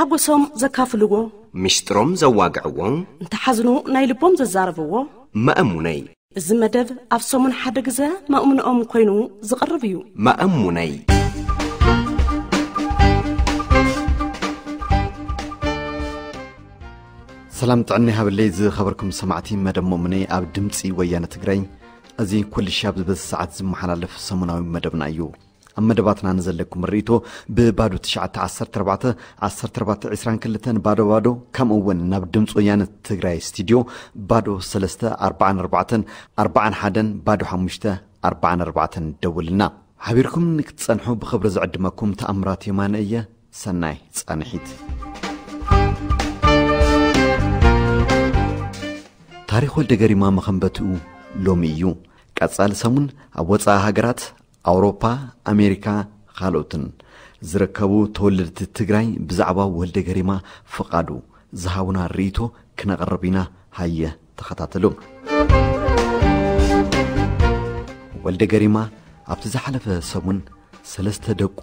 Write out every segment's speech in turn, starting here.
ሓጎሶም ዘካፍልዎ፣ ምስጢሮም ዘዋግዕዎ፣ እንተሓዝኑ ናይ ልቦም ዘዛረብዎ። መእሙነይ። እዚ መደብ ኣብ ሰሙን ሓደ ግዘ መእሙንኦም ኮይኑ ዝቐርብ እዩ። መእሙነይ። ሰላም ጥዕና ይሃበለይ ዝኸበርኩም ሰማዕቲ መደብ መእሙነይ ኣብ ድምፂ ወያነ ትግራይ። እዚ ኩልሻብ ዝበዚ ሰዓት ዝመሓላለፍ ሰሙናዊ መደብና እዩ። ኣብ መደባትና ንዘለኩም ርእይቶ ብባዶ ትሽዓተ ዓሰርተ ኣርባዕተ ዓሰርተ ኣርባዕተ ዕስራን ክልተን ባዶ ባዶ፣ ከምኡ እውን ናብ ድምፂ ወያነ ትግራይ ስቱድዮ ባዶ ሰለስተ ኣርባዓን ኣርባዕተን ኣርባዓን ሓደን ባዶ ሓሙሽተ ኣርባዓን ኣርባዕተን ደውልና። ሓቢርኩም ንክትጸንሑ ብኽብሪ ዝዕድመኩም ተኣምራት የማነ እየ። ሰናይ ጻንሒት። ታሪኽ ወልደ ገሪማ መኸንበትኡ ሎሚ እዩ። ቀጻሊ ሰሙን ኣብ ወጻኢ ሃገራት ኣውሮፓ፣ ኣሜሪካ፣ ካልኦትን ዝርከቡ ተወለድቲ ትግራይ ብዛዕባ ወልደ ገሪማ ፍቓዱ ዝሃቡና ርእይቶ ክነቕርብ ኢና። ሃየ ተኸታተሉ። ወልደ ገሪማ ኣብቲ ዝሓለፈ ሰሙን ሰለስተ ደቁ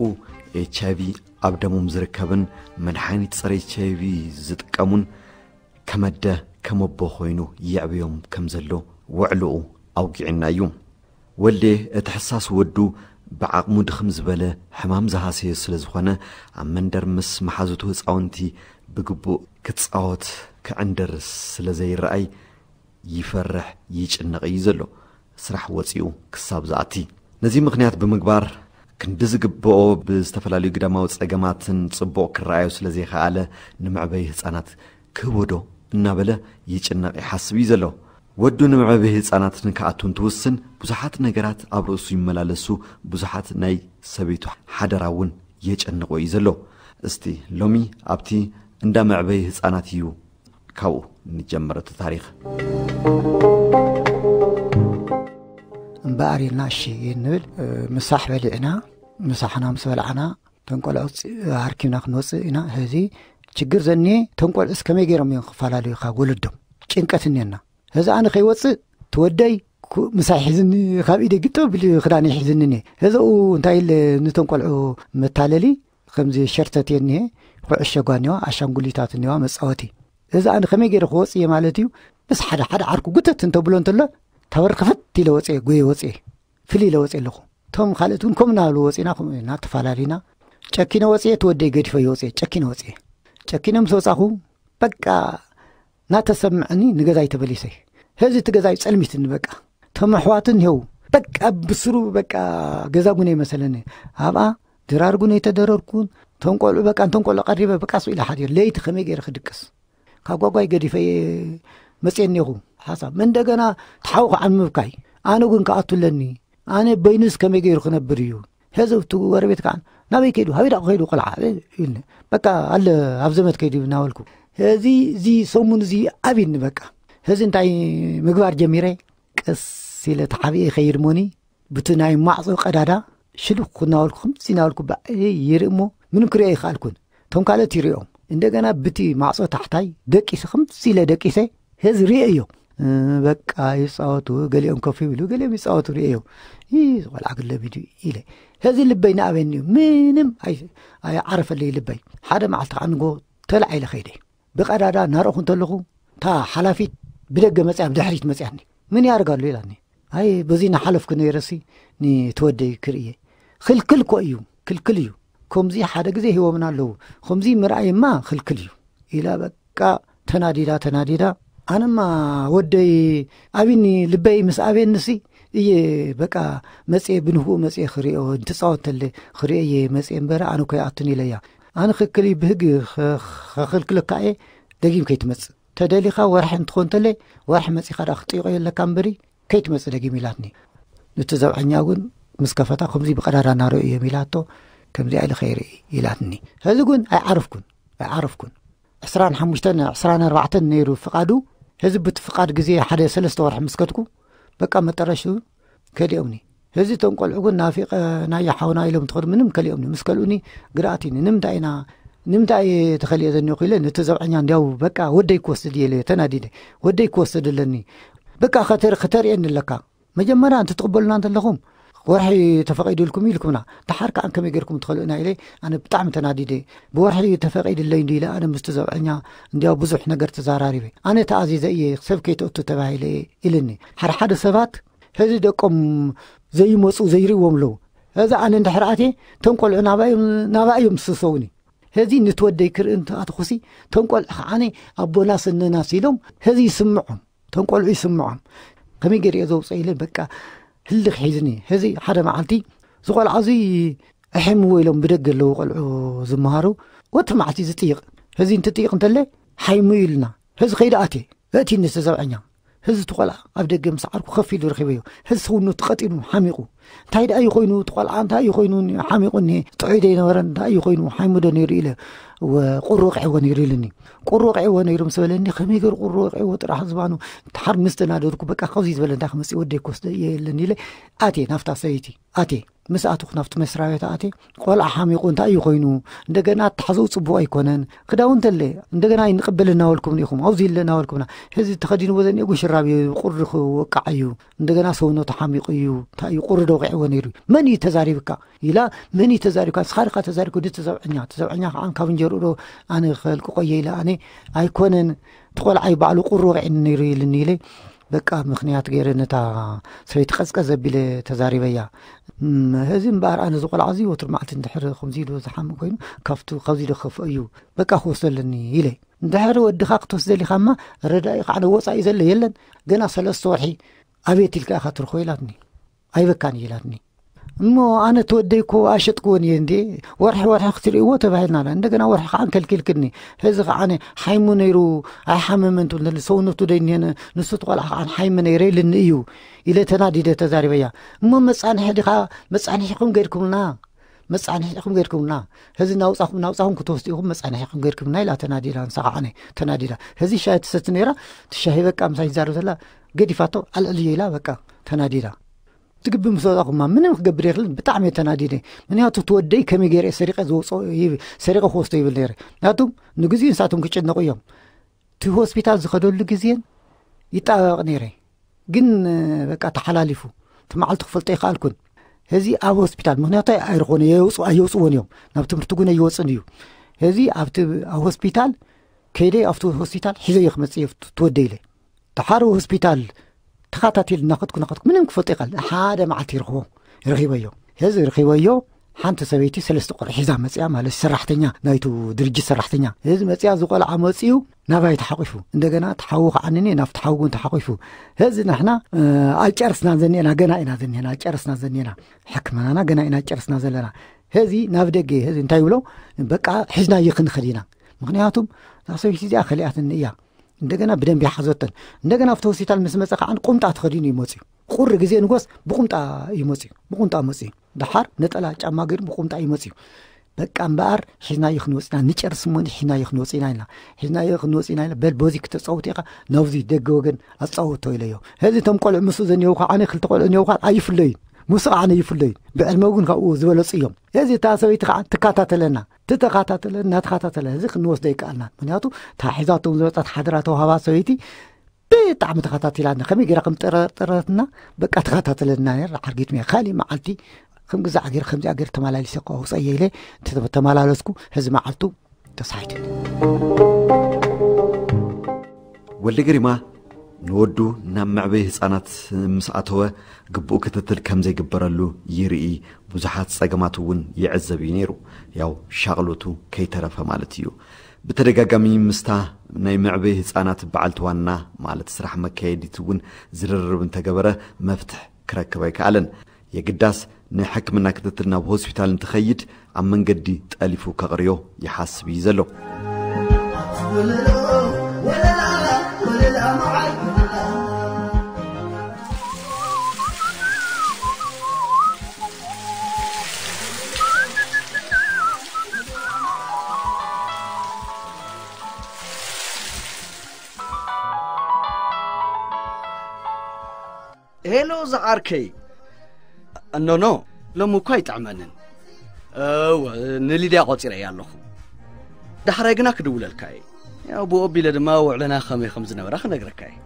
ኤች ኣይ ቪ ኣብ ደሞም ዝርከብን መድሓኒት ጸረ ኤች ኣይ ቪ ዝጥቀሙን ከመደ ከመቦ ኮይኑ የዕብዮም ከም ዘሎ ውዕልኡ ኣውጊዕና እዩ። ወልዴ እቲ ሕሳስ ወዱ ብዓቕሙ ድኽም ዝበለ ሕማም ዝሃሰዮ ስለ ዝኾነ፣ ኣብ መንደር ምስ መሓዙቱ ህፃውንቲ ብግቡእ ክፃወት ክዕንድር ስለ ዘይረኣይ ይፈርሕ ይጭነቕ እዩ ዘሎ። ስራሕ ወፂኡ ክሳብ ዝኣቲ። ነዚ ምኽንያት ብምግባር ክንዲ ዝግብኦ ብዝተፈላለዩ ግዳማዊ ፀገማትን ፅቡቕ ክረኣዮ ስለ ዘይኸኣለ፣ ንመዕበዪ ህፃናት ክህቦ ዶ እናበለ ይጭነቕ ይሓስብ እዩ ዘሎ። ወዱ ንመዕበዪ ህፃናት ንክኣቱ እንትውስን ብዙሓት ነገራት ኣብ ርእሱ ይመላለሱ፣ ብዙሓት ናይ ሰበይቱ ሓደራ እውን የጨንቆ እዩ ዘሎ። እስቲ ሎሚ ኣብቲ እንዳ መዕበዪ ህፃናት እዩ ካብኡ ንጀምር እቲ ታሪኽ። እምበኣር ኢልና እሺ ንብል፣ ምሳሕ በሊዕና፣ ምሳሕና ምስ በላዕና፣ ተንቆልዑ ኣርኪብና ክንወፅእ ኢና። ሕዚ ችግር ዘኒየ ተንቆልዑስ ከመይ ገይሮም እዮም ክፈላለዩ ካብ ወለዶም? ጭንቀት እኒየና። ሕዚ ኣነ ከይወፅእ ትወደይ ኩ-፣ ምሳይ ሒዝኒ ካብ ኢደ ግጥም ቢሉ ክዳነይ ሒዝኒ እኒሀ። ሕዚ ኡ እንታይ ኢለ ንተንቆልዑ መታለሊ ከምዚ ሸርተት እኒሀ፣ ኩዕሸ ጓ እኒዋ፣ ኣሻንጉሊታት እኒዋ መፃወቲ። እዚ ኣነ ከመይ ገይረ ክወፅእ እየ ማለት እዩ? ምስ ሓደ ሓደ ዓርኩ ጉተት እንተብሎ እንተሎ፣ ተበር ክፈት ኢለ ወፅየ፣ ጎየ ወፅየ፣ ፍልይ ኢለ ወፅየ ኣለኹ። እቶም ካልኦት እውን ከምኡ እናበሉ ወፂና፣ ከምኡ እናተፈላለዩና፣ ጨኪነ ወፅየ፣ እቲ ወደይ ገዲፈዮ ወፅየ፣ ጨኪነ ወፅየ። ጨኪነ ምስ ወፃኹ፣ በቃ እናተሰምዐኒ ንገዛይ ተመሊሰ። ሕዚ እቲ ገዛይ ጸልሚትኒ በቃ። እቶም ኣሕዋት እኒሄው፣ በቃ ብስሩ በቃ ገዛ ጉነ ይመሰለኒ። ኣብኣ ድራር ጉነ ኣይተደረርኩን። እቶም ቆልዑ በቃ፣ እንቶም ቆልዑ ቀሪበ በቃ ስኡ ኢለ ሓዲር። ለይቲ ከመይ ገይረ ክድቅስ? ካብ ጓጓይ ገዲፈ እየ መፅየ እኒኹ። ሓሳብ እንደገና ተሓውኹ ዓን ምብካይ። ኣነ እውን ክኣቱ ኣለኒ። ኣነ በይኑስ ከመይ ገይሩ ክነብር እዩ? ሕዚ እቲ ጎረቤት ከዓ ናበይ ከይዱ? ሃበይ ደኣ ከይዱ ቆልዓ? ኢልኒ። በቃ ኣለ ኣብ ዘመድ ከይዱ እናበልኩ። ሕዚ እዚ ሰሙን እዚ ኣብይኒ በቃ። ሕዚ እንታይ ምግባር ጀሚረ? ቀስ ኢለ ተሓቢኤ ይኸይድ እሞኒ፣ ብቲ ናይ ማዕጾ ቀዳዳ ሽልኽ እናበልኩ፣ ከምዚ እናበልኩ ባዕለይ ይርኢ እሞ፣ ምንም ክርእዮ ኣይከኣልኩን። እቶም ካልኦት ይርእዮም። እንደገና ብቲ ማዕጾ ታሕታይ ደቂሰ፣ ከምዚ ኢለ ደቂሰ፣ ሕዚ ርእየዮ። እ፣ በቃ ይጻወቱ፣ ገሊኦም ኮፍ ይብሉ፣ ገሊኦም ይጻወቱ ርእየዮ። ይህ ቆልዓ ግን ለሚዱ ኢለ። ሕዚ ልበይ ንኣበይኒ እዩ። ምንም ኣይ-፣ ኣይዓረፈልይ ልበይ። ሓደ መዓልቲ ከዓ ንጎ ተላዒለ ኸይደ። ብቐዳዳ እናረእኹ እንተለኹ፣ እታ ሓላፊት ብደገ መፅያ፣ ብድሕሪት መፅያኒ። ምን ያደርጋሉ ኢላኒ። ኣይ፣ በዚ እናሓለፍኩ ነይረሲ ንትወደይ ክርእየ። ክልክል እኮ እዩ፣ ክልክል እዩ። ከምዚ ሓደ ግዜ ሂቦምና ኣለዉ። ከምዚ ምርኣይማ ክልክል እዩ። ኢላ በቃ ተናዲዳ፣ ተናዲዳ። ኣነማ ወደይ ኣቢኒ፣ ልበይ ምስ ኣቤንሲ እየ በቃ መፅየ፣ ብንህኡ መፅየ ክርእዮ፣ እንትፃወት ተለ ክርእዮ እየ መፅየ እምበር ኣነ እኮ ይኣቱን ኢለያ። ኣነ ክክል እዩ ብህግ ኸ-፣ ኸኽልክለካ እየ፣ ደጊም ከይትመፅእ። ተደሊኻ ወርሒ እንትኾን ተለ፣ ወርሒ መፂኻ ደኣ ክጥይቆ የለካ እምበሪ፣ ከይትመጽእ ደጊም ኢላትኒ። ነቲ ዘብዐኛ እውን ምስ ከፈታ፣ ከምዚ ብቐዳዳ እናረኡ እዮም ኢላቶ፣ ከምዚኣ ኢለ ከይርኢ ኢላትኒ። ሕዚ ግን ኣይዓረፍኩን፣ ኣይዓረፍኩን። ዕስራን ሓሙሽተን፣ ዕስራን ኣርባዕተን ነይሩ ፍቓዱ። ሕዚ ብቲ ፍቓድ ግዜ ሓደ ሰለስተ ወርሒ ምስ ከድኩ፣ በቃ መጠረሽቱ ከዲኦምኒ። ሕዚ እቶም ቆልዑ ግን ናፊቐናዮ ሓውና ኢሎም ትኸዱ፣ ምንም ከሊኦምኒ። ምስ ከልኡኒ ግርኣት እዩኒ። ንምንታይ ኢና፣ ንምንታይ እየ ተኸሊኦ ዘኒኹ ኢለ ነቲ ዘብዐኛ እንዲያው በቃ ወደይ ክወስድ እየ ኢለ ተናዲደ። ወደይ ክወስድ ኣለኒ። በቃ ከተር-፣ ከተርእየኒ ኣለካ። መጀመርያ እንትትቕበሉና እንተለኹም ወርሒ ተፈቒዱልኩም ኢልኩምና፣ ደሓር ከዓን ከመይ ጌርኩም ትኸልኡና ኢለ፣ ኣነ ብጣዕሚ ተናዲደ። ብወርሒ ተፈቒድለይ እንዲ ኢለ፣ ኣነ ምስቲ ዘብዐኛ እንዲያው ብዙሕ ነገር ተዛራሪበ። ኣነ ተኣዚዘ እየ፣ ሰብ ከይተእቱ ተባሂለ እየ ኢልኒ። ሓደ ሓደ ሰባት ሕዚ ደቆም ዘይመፁ ዘይርእዎም ኣለዉ። ሕዚ ኣነ እንድሕር ኣትየ፣ እቶም ቆልዑ ናባይ እዮም፣ ናባይ እዮም ዝስሰውኒ። ሕዚ ንትወደይ ክርኢ እንተኣትኹሲ፣ እቶም ቆልዑ ከዓኒ ኣቦናስ እነናስ ኢሎም፣ ሕዚ ይስምዖም። እቶም ቆልዑ ይስምዖም። ከመይ ገይረ እየ ዘውፅኦ ኢለ፣ በቃ ህልኽ ሒዝኒ። ሕዚ ሓደ መዓልቲ፣ እዚ ቆልዓ እዚ ኣሕምዎ ኢሎም ብደገ ኣለዉ ቆልዑ ዝመሃሩ፣ ወትሪ መዓልቲ ዝጥይቕ። ሕዚ እንትጥይቕ እንተለ፣ ሓይሙ ኢልና። ሕዚ ከይደ ኣትየ። እቲ ንስ ዘብዐኛ። ህዚ እቲ ቆልዓ ኣብ ደገ ምስ ዓርኩ ከፍ ኢሉ ረኺበዮ። ህዚ ሰውነቱ ቀጢኑ ሓሚቑ። እንታይ ደኣ እዩ ኮይኑ? እቲ ቆልዓ እንታይ እዩ ኮይኑ? ሓሚቑ እኒሄ። ጥዑይ ዶ ይነበረን? እንታይ እዩ ኮይኑ? ሓይሙ ዶ ነይሩ ኢለ። ወ-፣ ቁሪ ወቂዕዎ ነይሩ ኢሉኒ። ቁሪ ወቂዕዎ ነይሩ ምስ በለኒ፣ ከመይ ገይሩ ቁሪ ወቂዕዎ ጥራሕ ዝባኑ? ድሓር ምስ ተናደድኩ፣ በቃ፣ ካብዚ ዝበለ እንታይ ክመጽእ ወደይ ክወስዶ እየ ኢለኒ ኢለ ኣትየ ናብታ ሰበይቲ። ኣትየ። ምስ ኣትኹ ናብቲ መስሪያ ቤት ኣትየ። ቆልዓ ሓሚቑ እንታይ እዩ ኮይኑ? እንደገና ኣተሓዘኡ ጽቡቕ ኣይኮነን። ክዳውንቲ ኣለ፣ እንደገና ኣይንቕበል እናበልኩም ኢኹም፣ ኣብዚ ኢለ እናበልኩምና። ሕዚ ተኸዲንዎ ዘኒኤ ጉሽራብ እዩ፣ ቁሪ ክወቃዕ እዩ። እንደገና ሰውነቱ ሓሚቑ እዩ። እንታይ እዩ ቁሪ ዶ ወቂዕዎ ነይሩ? መን እዩ ተዛሪብካ? ኢላ፣ መን እዩ ተዛሪብካ? ንስኻ ዲኻ ተዛሪብካ? ድቲ ዘብዐኛ፣ እቲ ዘብዐኛ ከዓ ካብ እንጀርኡ ዶ ኣነ ክፈልቅቆ እየ ኢለ፣ ኣነ ኣይኮነን፣ እቲ ቆልዓ እዩ ባዕሉ ቁሪ ወቂዕኒ ነይሩ ኢልኒ ኢለ፣ በቃ ምኽንያት ገይረ ነታ ሰበይቲ ቀዝቀዝ ኣቢለ ተዛሪበያ። እም፣ እዚ እምበኣር ኣነ እዚ ቆልዓ እዚ ወትሩ መዓልቲ እንድሕር ከምዚ ኢሉ ዝሓምእ ኮይኑ ካብቱ፣ ካብዚ ዶ ክኸፍኦ እዩ? በቃ ክወስዶ ኣለኒ ኢለ። እንድሕር ወድኻ ክትወስዶ ደሊኻማ ረዳኢ ከዓ ወፃኢ ዘሎ የለን። ገና ሰለስተ ወርሒ ኣቤት ኢልካ ኢኻ ትርኾ ኢላትኒ። ኣይበካን እዩ ኢላትኒ። እሞ ኣነ ተወደይ እኮ ኣሸጥክዎን እየ እንዴ፣ ወርሒ ወርሒ ክትርእይዎ ተባሂልና ኣላ። እንደገና ወርሒ ከዓ ከልኪልክኒ። ሕዚ ከዓ ሓይሙ ነይሩ ኣይሓመመን ትብል እንተለ ሰውነቱ ደይ እኒሄን ንሱ እቲ ቆልዓ ከዓ ሓይሙ ነይረ ኢልኒ እዩ ኢለ ተናዲደ ተዛሪበያ። እሞ መጻንሒ ዲኻ፣ መጻንሒኹም ገይርኩምልና፣ መጻንሒኹም ገይርኩምልና፣ ሕዚ ናውጻኹም፣ ናውጻኹም ክትወስዱ ኢኹም፣ መጻንሒኹም ገይርኩምልና ኢላ ተናዲዳ፣ ንሳ ከዓ ተናዲዳ። ሕዚ ሻሂ ትሰቲ ነይራ፣ እቲ ሻሂ በቃ ምሳይ ትዛረብ ዘላ ገዲፋቶ፣ ኣልዕልዮ ኢላ በቃ ተናዲዳ። ትግቢ ምስ ወጣኹማ ምንም ክገብር የኽልን። ብጣዕሚ እየ ተናዲደ። ምክንያቱ እቲ ወደይ ከመይ ገይረ እየ ሰሪቐ ዝወፅኦ ይብ-፣ ሰሪቐ ክወስዶ ይብል ነይረ። ምክንያቱ ንግዜኡ ንሳቶም ክጭነቑ እዮም። እቲ ሆስፒታል ዝኸደሉ ግዜን ይጣበቕ ነይረ። ግን በቃ ተሓላሊፉ። እቲ መዓልቲ ክፈልጦ ይኽኣልኩን። ሕዚ ኣብ ሆስፒታል፣ ምክንያቱ ኣይረኾነ፣ የውፅ-፣ ኣየውፅዎን እዮም። ናብ ትምህርቲ እውን ኣይወፅን እዩ። ሕዚ ኣብቲ፣ ኣብ ሆስፒታል ከይደ፣ ኣብቲ ሆስፒታል ሒዘዮ ክመፅእ እየ፣ ትወደ ኢለ። ተሓሩ ሆስፒታል ተኸታቲል እናኸድኩ እናኸድኩ ምንም ክፈልጦ ይኽእል። ሓደ መዓልቲ ይረኽቦ፣ ረኺበዮ። ሕዚ ረኺበዮ፣ ሓንቲ ሰበይቲ ሰለስተ ቆልዑ ሒዛ መፅያ፣ ማለት ሰራሕተኛ ናይቱ ድርጅት ሰራሕተኛ። ሕዚ መፅያ፣ እዚ ቆልዓ መፅዩ ናባይ ተሓቂፉ። እንደገና ተሓዉ ከዓንኒ፣ ናብቲ ሓዉ እውን ተሓቂፉ። ሕዚ ንሕና፣ እ፣ ኣይጨርስና ዘኒኤና፣ ገና ኢና ዘኒኤና፣ ኣይጨርስና ዘኒኤና። ሕክምናና ገና ኢና ጨርስና ዘለና። ሕዚ ናብ ደገ፣ ሕዚ እንታይ ይብሎ? በቃ ሒዝናዮ ክንኸድ ኢና። ምኽንያቱም እዛ ሰበይቲ እዚኣ ከሊኣትኒ እያ። እንደገና ብደንቢ ይሓዞተን። እንደገና ኣብቲ ሆስፒታል ምስ መጸ ከዓን ቁምጣ ተኸዲኑ እዩ መጽዩ። ቁሪ ግዜ ንጎስ ብቁምጣ እዩ መጽዩ። ብቁምጣ መጽዩ። ደሓር ነጠላ ጫማ ገይሩ ብቁምጣ እዩ መጽዩ። በቃ እምበኣር ሒዝናዮ ክንወጽ ኢና፣ ንጨርስ እሞ ሒዝናዮ ክንወጽ ኢና ኢልና። ሒዝናዮ ክንወጽ ኢና ኢልና። በል በዚ ክተጻውት ኢኻ፣ ናብዚ ደገ ወገን ኣጻውቶ ኢለዮ። ሕዚ እቶም ቆልዑ ምስኡ ዘኒአው ከዓነ ክልተ ቆልዑ እኒአው ከዓን ኣይፍለዩን። ምስኡ ከዓነ ይፍለዩን። ብዕድመ እውን ካብኡ ዝበለጹ እዮም። ሕዚ እታ ሰበይቲ ከዓ ትከታተለና። ትተኸታተለ፣ እናተኸታተለ፣ እዚ ክንወስዶ ይከኣልና። ምኽንያቱ እታ ሒዛቶም ዝመጸት ሓደራ ተዋህባ ሰበይቲ ብጣዕሚ ተኸታቲላና። ከመይ ገይራ ከም ጠረጠረትና በቃ ተኸታተለና ነይራ። ሓርጊት ሜ-፣ ካሊእ መዓልቲ ከም ግዛዕ ገይረ፣ ከምዚኣ ገይረ ተመላሊሰ እኮ ኣውፀየ ኢለ እንተ ተመላለስኩ፣ ሕዚ መዓልቱ ተሳሒቱ። ወልደ ገሪማ ንወዱ ናብ መዕበዪ ህጻናት ምስ ኣተወ፣ ግቡእ ክትትል ከም ዘይግበረሉ ይርኢ፣ ብዙሓት ጸገማት እውን ይዕዘብ እዩ ነይሩ። ያው ሻቕሎቱ ከይተረፈ ማለት እዩ። ብተደጋጋሚ ምስታ ናይ መዕበዪ ህጻናት በዓልቲ ዋና፣ ማለት ስራሕ መካየዲት እውን ዝርርብ እንተገበረ፣ መፍትሕ ክረክብ ኣይከኣለን። የግዳስ ንሕክምና ክትትል ናብ ሆስፒታል እንትኸይድ፣ ኣብ መንገዲ ጠሊፉ ከቕርዮ ይሓስብ እዩ ዘሎ። ሄሎ ዝዓርከይ። ኖኖ፣ ሎሚ እኳ ኣይጥዕመንን። እወ፣ ንሊድያ ቆጺረያ ኣለኹ። ዳሕራይ ግና ክድውለልካ እየ። ያው ብኡ ኣቢለ ድማ ውዕለና ከመይ ከም ዝነበረ ክነግረካ እየ።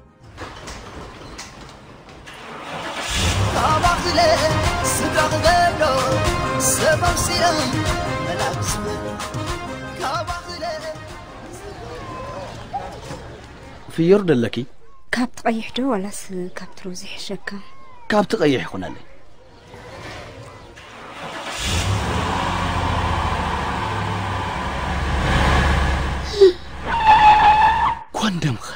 ተቕበሎ ሰብ ኣምሲላ መላእክት ካባኽለ ፍዮር ደለኪ? ካብቲ ቀይሕ ዶ ዋላስ ካብቲ ሮዝ ይሕሸካ? ካብቲ ቀይሕ ይኹነለይ። ኮንደምኸ?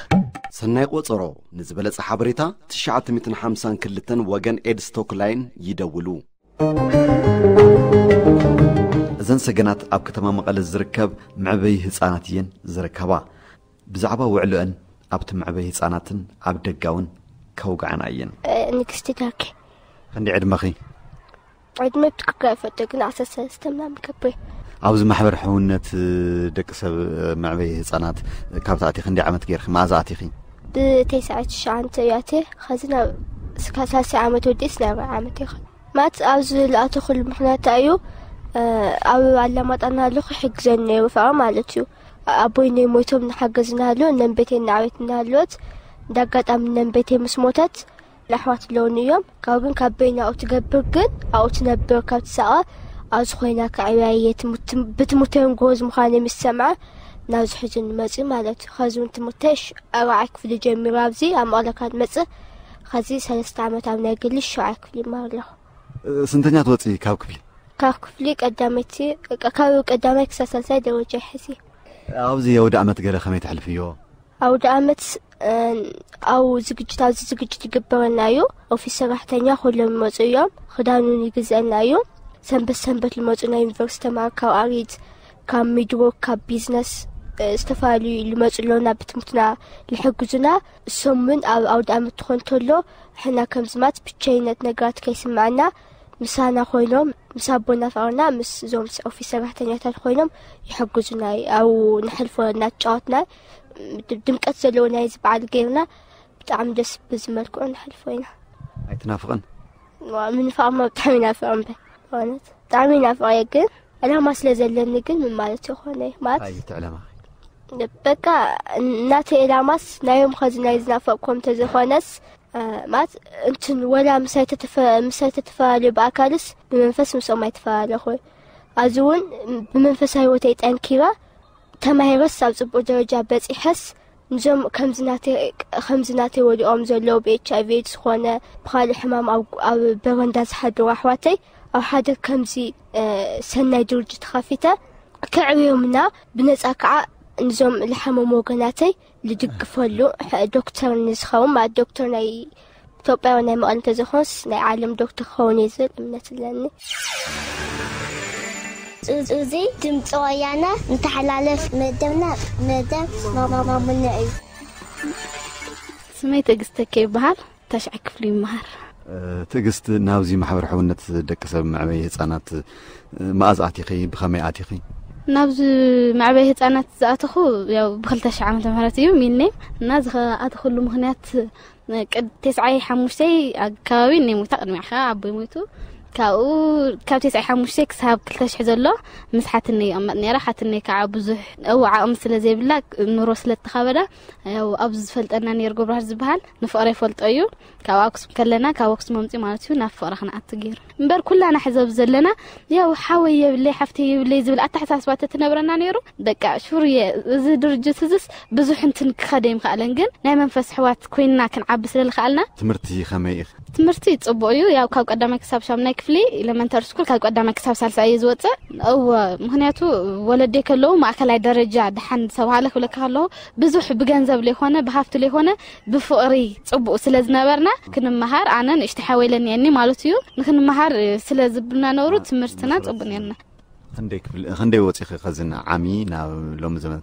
ሰናይ ቆጸሮ። ንዝበለጸ ሓበሬታ ትሽዓተ ሚእትን ሓምሳን ክልተን ወገን ኤድስ ቶክላይን ይደውሉ። እዘን ሰገናት ኣብ ከተማ መቐለ ዝርከብ መዕበዪ ህጻናት እየን ዝርከባ። ብዛዕባ ውዕሎአን ኣብቲ መዕበዪ ህጻናትን ኣብ ደጋውን ከውግዓና እየን። ንግስቲ ዳርኬ። ክንደይ ዕድመኺ? ዕድመ ብትክክል ኣይፈልጦ ግን ዓሰርተ ሰለስተ ምናምን ከብር። ኣብዚ ማሕበር ሕውነት ደቂ ሰብ መዕበዪ ህጻናት ካብ ትኣቲ ክንደይ ዓመት ገይርኺ? መኣዛ ኣቲኺ? ብተስዓት ትሽዓተ እያተ ኸዚ ናብ እስካ ሳልሳይ ዓመት ወዲስ ናይ ራብዓይ ዓመት ይኸ ማት ኣብዚ ዝለኣተኹሉ ምክንያት እዩ። ኣብ ኣላማጣ እናሃለኹ ይሕግዘኒ ነይሩ ፍቕሪ ማለት እዩ። ኣቦይ ነይ ሞይቶም እናሓገዝ እናሃለወ እነን ቤተይ እናዕቤት እናሃለወት እንደ ኣጋጣሚ እነን ቤተይ ምስ ሞተት ኣሕዋት ኣለውኒ እዮም። ካብ ግን ካብ በይና ኣብኡ ትገብር ግን ኣብኡ ትነብር ካብ ትሳቐ ኣብዚ ኮይና ከዕብያ እየ። ብትምህርተይን ጎበዝ ምዃነ ምስ ሰምዐ ናብዚ ሕዚ ንመፅእ ማለት እዩ። ከዚ እውን ትምህርተይ ኣርባዓይ ክፍሊ ጀሚሩ ኣብዚ ኣብ መቐለ ካብ መፅእ ከዚ ሰለስተ ዓመት ኣብ ናይ ግሊ ሸውዓይ ክፍሊ ይመሃር ኣለኹ። ስንተኛ ትወፂ ካብ ክፍሊ? ካብ ክፍሊ ቀዳመይቲ ካብ ቀዳማይ ክሳብ ሳልሳይ ደረጃ ሕዚ። ኣብዚ የውደ ዓመት ገለ ከመይ ተሕልፍዮ? ኣውደ ዓመት ኣብ ዝግጅት ኣብዚ ዝግጅት ይግበረና እዩ። ኦፊስ ሰራሕተኛ ኩሎም ይመፁ እዮም። ክዳኑን ይግዘአና እዩ። ሰንበት ሰንበት ልመፁ ናይ ዩኒቨርሲቲ ተማሃሮ ካብ ኣሪት ካብ ሚድሮክ ካብ ቢዝነስ ዝተፈላለዩ ልመፁ ኣለውና ብትምህርትና ልሕግዙና። እሶም እውን ኣብ ኣውደ ዓመት ትኾን ተሎ ሕና ከምዝማት ብቸይነት ነገራት ከይስምዐና ምሳና ኮይኖም ምስ ኣቦና ፍቕርና ምስ እዞም ኦፊስ ሰራሕተኛታት ኮይኖም ይሕግዙና። ኣብኡ ንሕልፎ እናተጫወትና ድምቀት ዘለዎ ናይዚ በዓል ገይርና ብጣዕሚ ደስ ብዝመልክዑ ንሕልፎ ኢና። ኣይትናፍቕን? ምንፋቕማ ብጣዕሚ ይናፍቕ እምበር ብእውነት ብጣዕሚ ይናፍቕ እየ ግን ዕላማ ስለ ዘለኒ ግን ምን ማለት ይኾነ ማለት ኣይቲ ዕላማ በቃ እናተ ዕላማስ ናዮም ኸዚ ናይ ዝናፈቕኮም ተዘኾነስ ማለት እንትን ወላ ምሳይ ተተፈላለዩ ብኣካልስ ብመንፈስ ምስኦም ኣይተፈላለኹ። ኣዚ እውን ብመንፈሳዊ ህይወተይ ጠንኪረ ተማሂረስ ኣብ ፅቡቅ ደረጃ በፂሐስ ንዞም ከምዚ ናተይ ወዲቆም ዘለዉ ብኤች ኣይቪ ኤድስ ዝኾነ ብካልእ ሕማም ኣብ በረንዳ ዝሓደሩ ኣሕዋተይ ኣብ ሓደ ከምዚ ሰናይ ድርጅት ተኻፊተ ከዕብዮምና ብነፃ ከዓ ንዞም ልሓመሙ ወገናተይ ልድግፈሉ ዶክተር ንዝኸውን ማለት ዶክተር ናይ ኢትዮጵያ ናይ መቐለ እንተዘይኮነስ ናይ ዓለም ዶክተር ክኸውን እየ ዝብል እምነት ኣለኒ። እዚ ድምፂ ወያነ እንተሓላለፍ መደብና መደብ ማሙነ እዩ። ስመይ ትዕግስቲ ተኪ ይበሃል። ታሽዓይ ክፍሊ ይመሃር። ትዕግስቲ፣ ናብዚ ማሕበር ሕውነት ደቂ ሰብ መዕበዪ ህፃናት መኣዝ ኣቲኺ? ብኸመይ ኣቲኺ? ናብዚ መዕበይ ህፃናት ዝኣተኹ ያው ብክልተ ሽሕ ዓመተ ምህረት እዩ ሚኔም እና ዝኣተኹሉ ምክንያት ቅድ ተስዓይ ሓሙሽተይ ኣካባቢ እነይ ሞይታ ቅድሚያ ከዓ ኣቦይ ሞይቱ ካብኡ ካብ ተስዓይ ሓሙሽተይ ክሳብ ክልተ ሽሕ ዘሎ ምስ ሓትነይ ይቕመጥ ነይረ ሓትነይ ከዓ ብዙሕ እው ዓቕሚ ስለ ዘይብላ ኑሮ ስለ እተኸበዳ ያው ኣብዚ ዝፈልጠና ነይሩ ገብረሃር ዝበሃል ንፍቕረ ይፈልጦ እዩ ካብ ኣክሱም ከለና ካብ ኣክሱም ኣምፅኡ ማለት እዩ ናብ ፍቕረ ክንኣቱ ገይሩ እምበር ኩላና ሕዚ ኣብዚ ዘለና ያው ሓወይ የብለይ ሓፍተይ የብለይ ዝብል ኣተሓሳስባ ተትነብረና ነይሩ በቃ ሹር እየ እዚ ድርጅት እዝስ ብዙሕ እንትን ክኸደ ይምክኣለን ግን ናይ መንፈስ ኣሕዋት ኮይንና ክንዓቢ ስለ ዝኸኣልና ትምህርቲ ከመይ ኢኺ? ትምህርቲ ፅቡቕ እዩ ያው ካብ ቀዳማይ ክሳብ ሻምናይ ክፍሊ ኤለመንተሪ ስኩል ካብ ቀዳማይ ክሳብ ሳልሳይ እየ ዝወፅእ እወ ምክንያቱ ወለደይ ከለዉ ማእከላይ ደረጃ ደሓን ዝተባሃለ ክብለካ ከለኹ ብዙሕ ብገንዘብ ለይኮነ ብሃፍቲ ለይኮነ ብፍቕሪ ፅቡቕ ስለ ዝነበርና ክንመሃር ኣነ ንእሽተ ሓወይ ለኒአኒ ማለት እዩ ንክንመሃር ስለ ዝብልና ነብሩ ትምህርትና ፅቡቕ ነርና ክንደይ ክፍሊ ክንደይ ወፂኺ ከዚ ዓሚ ናብ ሎሚ ዘመን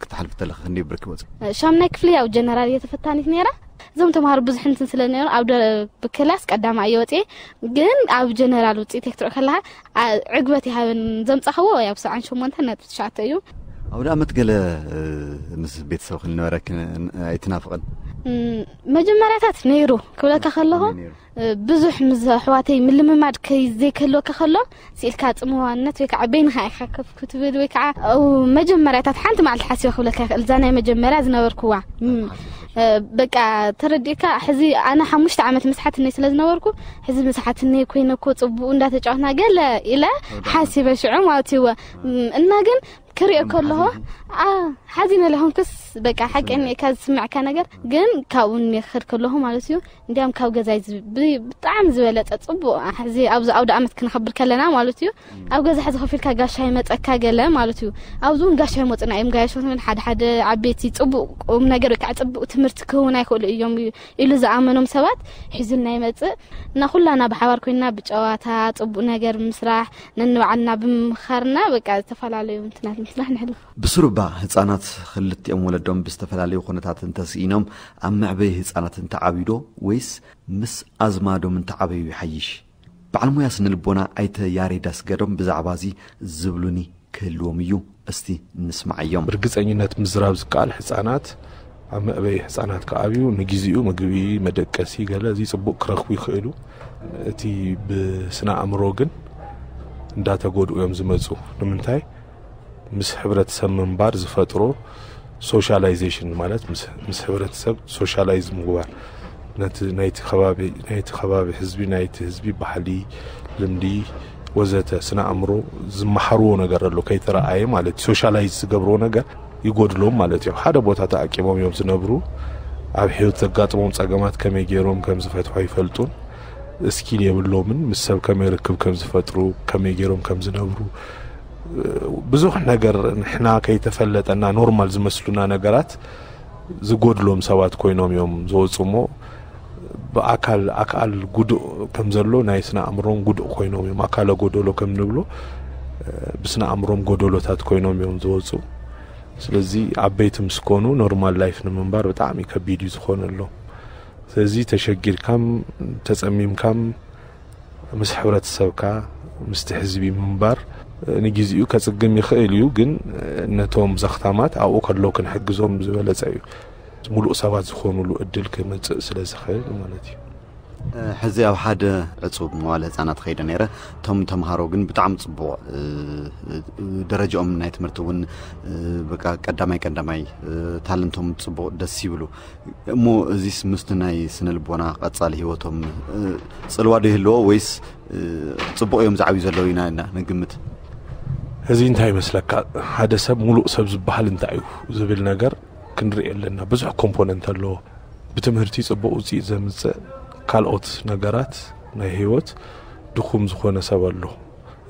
ክትሓልፊ ተለኺ ክንደይ ብርኪ ወፂ ሻምናይ ክፍሊ ያው ጀነራል እየ ተፈታኒት ነይራ እዞም ተምሃሮ ብዙሕ እንትን ስለ ነይሩ ኣብ ብክላስ ቀዳማ እየ ወፅየ ግን ኣብ ጀነራል ውፅኢት ክትርኢ ከለካ ዕግበት ይሃበን ዘምፃኽዎ ያው ሰብዓን ሸሞንተን ነጥቢ ትሽዓተ እዩ ኣውደ ዓመት ገለ ምስ ቤተሰብ ክንነበረ ኣይትናፍቕን መጀመርያታት ነይሩ ክብለካ ከለኹ ብዙሕ ምስ ኣሕዋተይ ምልምማድ ከይ ዘይክህልወካ ከሎ ስኢልካ ጽምዋነት ወይ ከዓ በይንኻ ኢኻ ከፍ ክትብል ወይ ከዓ መጀመርያታት ሓንቲ መዓልቲ ሓሲበ ክብለካ ይኽእል። እዛ ናይ መጀመርያ ዝነበርኩዋ በቃ ተረዲእካ። ሕዚ ኣነ ሓሙሽተ ዓመት ምስሓትነይ ስለ ዝነበርኩ ሕዚ ምስሓትነይ ኮይነ እኮ ጽቡቅ እንዳተጫወትና ገለ ኢለ ሓሲበ ሽዑ ማለት እዩ። እና ግን ክሪኦ ከለኹ ሓዚነ ለኹንኩስ በቃ ሓቂ እኒካ ዝስምዕካ ነገር ግን ካብኡ እኒክድ ከለኹ ማለት እዩ። እንዲያም ካብ ገዛይ ብጣዕሚ ዝበለፀ ፅቡቅ ሕዚ ኣብዚ ኣውደ ኣመት ክንኸብር ከለና ማለት እዩ። ኣብ ገዛ ሕዚ ከፊልካ ጋሻ ይመፀካ ገለ ማለት እዩ። ኣብዚ እውን ጋሻ ይመፁና እዮም ጋያሾት ሓደ ሓደ ዓበይቲ ፅቡቅ ቁም ነገር ወይ ከዓ ፅቡቅ ትምህርቲ ክህቡና ይኽእሉ እዮም ኢሉ ዝኣመኖም ሰባት ሒዙልና ይመፅእ እና ኩላና ብሓባር ኮይና ብጨዋታ ፅቡቅ ነገር ምስራሕ ነንባዕልና ብምምኻርና በቃ ዝተፈላለዩ ምትናት ምስራሕ ንሕልፍ። ብስሩባ ህጻናት ክልቲኦም ወለዶም ብዝተፈላለዩ ኩነታት እንተስኢኖም ኣብ መዕበይ ህጻናት እንተዓብዩዶ ወይስ ምስ ኣዝማዶም እንተዓበዩ ይሓይሽ? በዓል ሞያ ስነ ልቦና ኣይተ ያሬድ ኣስገዶም ብዛዕባ እዚ ዝብሉኒ ክህልዎም እዩ። እስቲ እንስማዓዮም። ብርግጸኝነት ምዝራብ ዝከኣል ህጻናት ኣብ መዕበይ ህጻናት ከኣብዩ ንጊዜኡ ምግቢ መደቀሲ ገለ እዚ ጽቡቅ ክረኽቡ ይኽእሉ። እቲ ብስነ ኣእምሮ ግን እንዳተጎድኡ እዮም ዝመፁ። ንምንታይ? ምስ ሕብረተሰብ ምንባር ዝፈጥሮ ሶሻላይዜሽን ማለት ምስ ሕብረተሰብ ሶሻላይዝ ምግባር ናይቲ ከባቢ ህዝቢ ናይቲ ህዝቢ ባህሊ ልምዲ ወዘተ ስነ ኣእምሮ ዝመሓርዎ ነገር ኣሎ ከይተረኣየ ማለት ሶሻላይዝ ዝገብርዎ ነገር ይጎድሎም ማለት እዩ። ሓደ ቦታ ተኣቂቦም እዮም ዝነብሩ። ኣብ ህይወት ዘጋጥሞም ፀገማት ከመይ ገይሮም ከም ዝፈትሖ ይፈልጡን ስኪል የብሎምን። ምስ ሰብ ከመይ ርክብ ከም ዝፈጥሩ ከመይ ገይሮም ከም ዝነብሩ ብዙሕ ነገር ንሕና ከይተፈለጠና ኖርማል ዝመስሉና ነገራት ዝጎድሎም ሰባት ኮይኖም እዮም ዝወፁ እሞ ብኣካል ኣካል ጉዱእ ከም ዘሎ ናይ ስነ ኣእምሮም ጉዱእ ኮይኖም እዮም ኣካለ ጎደሎ ከም ንብሎ ብስነ ኣእምሮም ጎደሎታት ኮይኖም እዮም ዝወፁ። ስለዚ ዓበይቲ ምስ ኮኑ ኖርማል ላይፍ ንምንባር ብጣዕሚ ከቢድ እዩ ዝኾነሎም። ስለዚ ተሸጊርካም ተጸሚምካም ምስ ሕብረተሰብካ ምስቲ ህዝቢ ምንባር ንግዚኡ ከጽግም ይኽእል እዩ፣ ግን ነቶም ዘኽታማት ኣብኡ ከለዉ ክንሕግዞም ዝበለጸ እዩ። ምሉእ ሰባት ዝኾኑሉ እድል ክመጽእ ስለ ዝኽእል ማለት እዩ። ሕዚ ኣብ ሓደ ዕጹብ መዋለ ህጻናት ኸይደ ነይረ። እቶም ተምሃሮ ግን ብጣዕሚ ጽቡቕ ደረጃኦም ናይ ትምህርቲ እውን በቃ ቀዳማይ ቀዳማይ ታለንቶም ጽቡቕ ደስ ይብሉ። እሞ እዚስ ምስቲ ናይ ስነ ልቦና ቀጻሊ ህይወቶም ጽልዋ ዶ ይህልዎ ወይስ ጽቡቕ እዮም ዝዓብዩ ዘለዉ ኢና ንግምት? እዚ እንታይ ይመስለካ? ሓደ ሰብ ሙሉእ ሰብ ዝበሃል እንታይ እዩ ዝብል ነገር ክንርኢ ኣለና። ብዙሕ ኮምፖነንት ኣለዎ። ብትምህርቲ ጽቡቕ ውጽኢት ዘምጽእ ካልኦት ነገራት ናይ ህይወት ድኹም ዝኾነ ሰብ ኣሎ።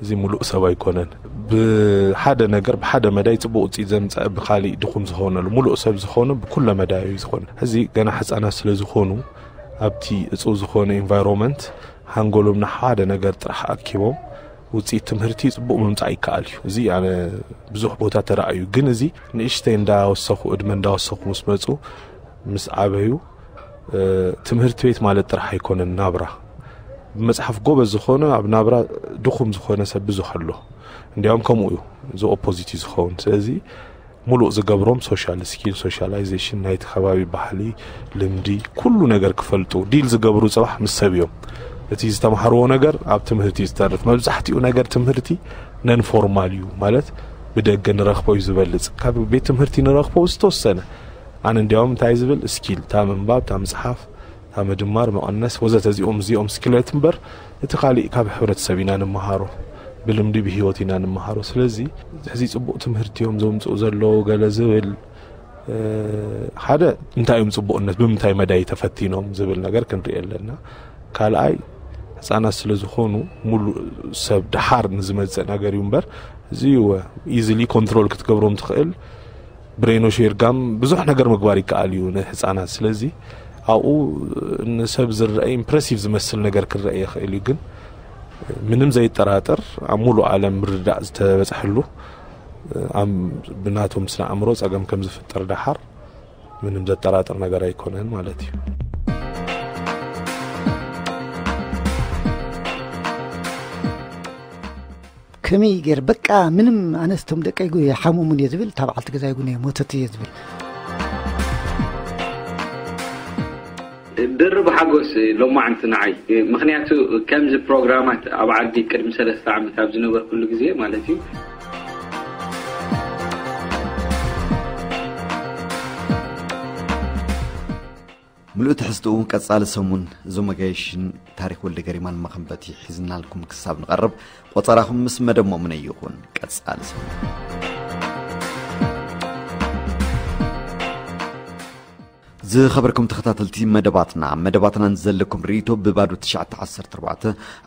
እዚ ሙሉእ ሰብ ኣይኮነን። ብሓደ ነገር ብሓደ መዳይ ጽቡቕ ውጽኢት ዘምጽእ ብካሊእ ድኹም ዝኾነሉ ሙሉእ ሰብ ዝኾነ ብኩለ መዳይ እዩ ዝኾነ። እዚ ገና ሕጻናት ስለ ዝኾኑ ኣብቲ እጹብ ዝኾነ ኢንቫይሮንመንት ሃንጎሎም ንሓደ ነገር ጥራሕ ኣኪቦም ውፅኢት ትምህርቲ ፅቡቕ ምምፃእ ይከኣል እዩ። እዚ ኣነ ብዙሕ ቦታ ተረኣዩ። ግን እዚ ንእሽተይ እንዳወሰኹ እድመ እንዳወሰኹ ምስ መፁ ምስ ዓበዩ ትምህርቲ ቤት ማለት ጥራሕ ኣይኮነን ናብራ። ብመፅሓፍ ጎበዝ ዝኾነ ኣብ ናብራ ድኹም ዝኾነ ሰብ ብዙሕ ኣሎ። እንዲያውም ከምኡ እዩ እዚ ኦፖዚት እዩ ዝኸውን። ስለዚ ሙሉእ ዝገብሮም ሶሻል ስኪል ሶሻላይዜሽን ናይቲ ከባቢ ባህሊ ልምዲ ኩሉ ነገር ክፈልጡ ዲል ዝገብሩ ፅባሕ ምስ ሰብ እዮም። እቲ ዝተምሃርዎ ነገር ኣብ ትምህርቲ ዝተርፍ መብዛሕትኡ ነገር ትምህርቲ ነን ፎርማል እዩ ማለት ብደገ ንረኽቦ እዩ ዝበልፅ ካብ ቤት ትምህርቲ ንረኽቦ ዝተወሰነ ኣነ እንዲያውም እንታይ ዝብል ስኪል እታ ምንባብ እታ ምፅሓፍ እታ ምድማር መቐነስ ወዘተ እዚኦም እዚኦም ስኪላት እምበር እቲ ካሊእ ካብ ሕብረተሰብ ኢና ንምሃሮ ብልምዲ ብህይወት ኢና ንምሃሮ ስለዚ ሕዚ ፅቡቅ ትምህርቲ እዮም ዘምፅኡ ዘለዉ ገለ ዝብል ሓደ እንታይ እዮም ፅቡቅነት ብምንታይ መዳይ ተፈቲኖም ዝብል ነገር ክንርኢ ኣለና ካልኣይ ህፃናት ስለ ዝኾኑ ሙሉእ ሰብ ድሓር ንዝመፅእ ነገር እዩ እምበር እዚ ኢዝሊ ኮንትሮል ክትገብሮም ትኽእል ብሬኖሽ ጌርካም ብዙሕ ነገር ምግባር ይከኣል እዩ ንህፃናት ስለዚ ኣብኡ ንሰብ ዝረአ ኢምፕረሲቭ ዝመስል ነገር ክረአ ይኽእል እዩ ግን ምንም ዘይጠራጠር ኣብ ሙሉእ ዓለም ምርዳእ ዝተበፅሐሉ ብናቶም ስነ ኣእምሮ ፀገም ከም ዝፍጠር ደሓር ምንም ዘጠራጥር ነገር ኣይኮነን ማለት እዩ። ከመይ ገይር በቃ ምንም ኣነስቶም ደቀይ ሓሙሙን እየ ዝብል እታ በዓልቲ ገዛይ ጉን እየ ሞተት እየ ዝብል ድርብ ሓጎስ ሎማዓንቲ ንዓይ። ምኽንያቱ ከምዚ ፕሮግራማት ኣብ ዓዲ ቅድሚ ሰለስተ ዓመት ኣብ ዝነበርኩሉ ግዜ ማለት እዩ። ምሉእ ትሕዝትኡ ቀጻሊ ሰሙን እዞም መጋየሽን ታሪክ ወልደ ገሪማን መኸንበቲ ሒዝናልኩም ክሳብ ንቐርብ ቆጸራኹም ምስ መደብ ሞእምነ ይኹን። ቀጻሊ ሰሙን። ዝኸበርኩም ተኸታተልቲ መደባትና፣ መደባትና ንዘለኩም ርእይቶ ብባዶ ትሽዓተ ዓሰርተ ኣርባዕተ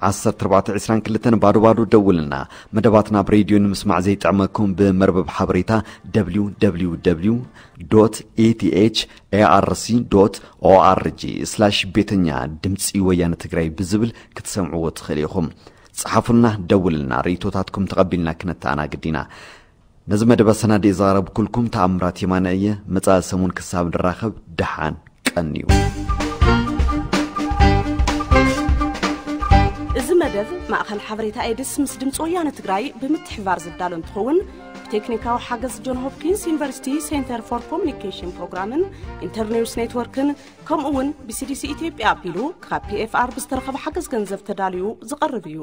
ዓሰርተ ኣርባዕተ ዕስራን ክልተን ባዶ ባዶ ደውልና። መደባትና ኣብ ሬድዮ ንምስማዕ ዘይጥዕመኩም ብመርበብ ሓበሬታ www.ethirc.org/ቤተኛ ድምፂ ወያነ ትግራይ ብዝብል ክትሰምዕዎ ትኽእሉ ኢኹም። ጸሓፉልና፣ ደውልና፣ ርእይቶታትኩም ተቐቢልና ክነተኣናግድ ኢና። ነዚ መደብ ኣሰናዲእ ዘቕረብኩልኩም ተኣምራት የማነ እየ። መጻኢ ሰሙን ክሳብ ንራኸብ ደሓን ቀንዩ። እዚ መደብ ማእኸል ሓበሬታ ኤድስ ምስ ድምፂ ወያነ ትግራይ ብምትሕብባር ዝዳሎ እንትኸውን፣ ብቴክኒካዊ ሓገዝ ጆን ሆፕኪንስ ዩኒቨርሲቲ ሴንተር ፎር ኮሚኒኬሽን ፕሮግራምን ኢንተርኒውስ ኔትወርክን ከምኡ እውን ብሲዲሲ ኢትዮጵያ ኣቢሉ ካብ ፒኤፍኣር ብዝተረኸበ ሓገዝ ገንዘብ ተዳልዩ ዝቐርብ እዩ።